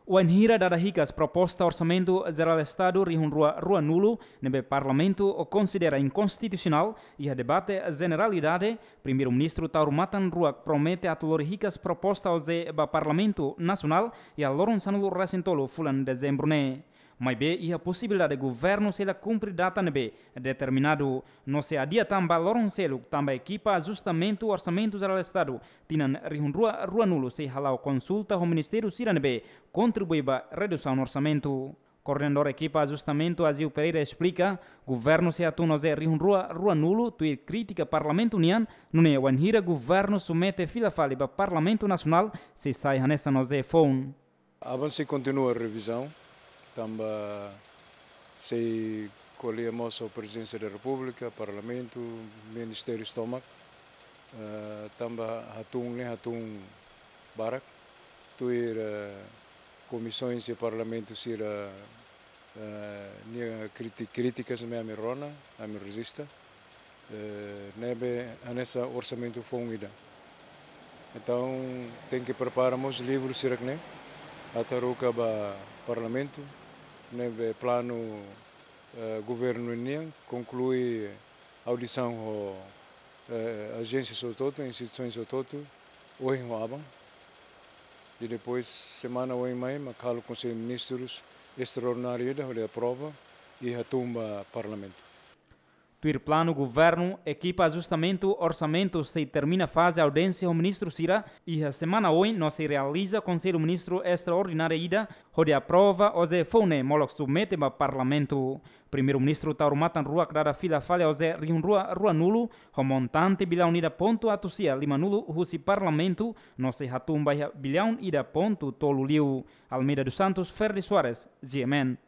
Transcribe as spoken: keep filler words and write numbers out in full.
Wainhira dada hikas proposta Orsamentu Jerál Estadu rihun rua rua nulu ne'ebé Parlamentu konsidera inkonstitusionál, iha debate jeneralidade, Primeiru-Ministru Taur Matan Ruak promete atu lori hikas proposta OJE ba Parlamentu Nasionál iha loron sanulu resin tolu fulan Dezembru ne'e. Maibé iha posibilidade governu sei la kumpre data ne'ebé determinadu, no sei adia tan ba loron seluk tanba ekipa ajustamentu Orsamentu Jerál Estadu tinan rihun rua rua nulu sei hala'o konsulta ho ministériu sira ne'ebé kontribui ba redusaun orsamentu. Koordenadór ekipa ajustamentu Azil Pereira esplika, governu sei hatún OJE rihun rua rua nulu tuir krítika Parlamentu nian, nune'e wainhira governu submete fila fali ba Parlamentu Nasionál sei sai hanesan OJE foun. Aban sei kontinua revizaun, tanba sei ko'alia mós ho Prezidénsia da Repúblika, Parlamentu, ministériu tomak, eh, tanba hatún ne'e hatún barak, tuir, eh, komisaun sira Parlamentu sira, eh, nia kriti-, krítikas ne'ebé ami rona, ami rejista, eh, ne'ebé hanesan orsamentu foun ida. Entaun, tenke prepara mós livru sira-ne'e, atu haruka ba Parlamentu, ne'ebé planu, eh, governu nian, konklui audisaun ho, eh, ajénsia hotu-hotu, instituisaun hotu-hotu, ohin ho aban. I depois, semana oin mai, mak halo Konsellu Ministrus estraordináriu ida, hodi aprova, i hatún ba Parlamentu. Tuir planu governu, ekipa ajustamentu orsamentu sei termina faze audiénsia ho ministru sira iha semana oin no sei realiza Konsellu Ministru estraordináriu ida, hodi aprova OJE foun ne'e molok submete ba Parlamentu. Primeiru-Ministru Taur Matan Ruak dada fila fali OJE rihun rua rua nulu, ho montante billaun ida pontu atus sia lima nulu husi Parlamentu, no sei hatún ba iha billaun ida pontu tolu liu. Almeida dos Santos, Ferdi Soares, G M N.